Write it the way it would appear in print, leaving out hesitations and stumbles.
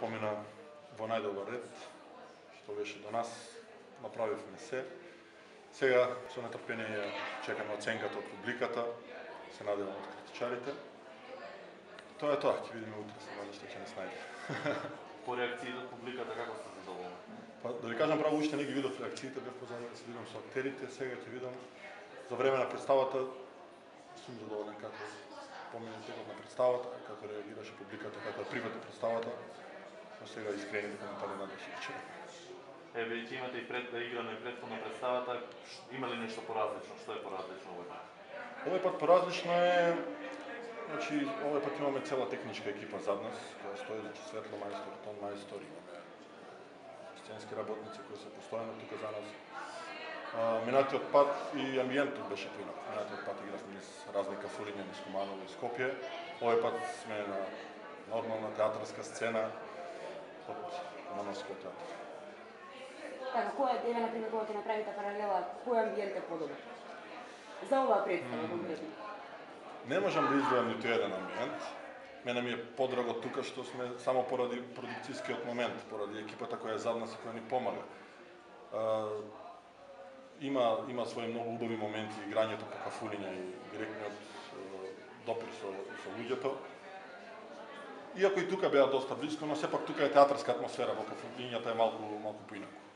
помина во најдобар ред, што беше до нас, направивме се. Сега со нетрпение чекаме оценката од публиката, се надевам од критичарите. Тоа е тоа, ќе видиме утре се што ќе не снајде. По реакциите од публиката како сте задоволни? Па да ви кажам право, уште не ги видов реакциите, бев позаден да се видам со актерите, сега ќе видам за време на представата. Сум задоволен како помина текот на представата, како реагираше публиката, како прифати представата. Но сега искрените коментари надвеше вчера. Еве, ќе имате и играно и претходна представата, има ли нешто поразлично? Што е поразлично овој пат? Овој пат поразлично е, значи овој пат имаме цела техничка екипа зад нас, која стои, значи светло мајстор, тон мајстор, имаме сценски работници кои се постојано тука за нас. Минатиот пат и амбиентот беше поинак. Минатиот пат игравме низ разни кафулиња низ Куманово и Скопје. Овој пат сме на нормална театарска сцена од Кумановскиот театар. Така, кој е, например, кога ќе направите паралела, кој амбиент е подобар? За оваа представа конкретно? Не можам да издвојам ниту еден амбиент. Мене ми е подраго тука што сме само поради продукцијскиот момент, поради екипата која е зад нас и која ни помага. Има свои многу убави моменти, играњето по кафулиња и директниот допир со луѓето. Иако и тука беа доста блиско, но сепак тука е театарска атмосфера, во кафулињата е малку поинаку.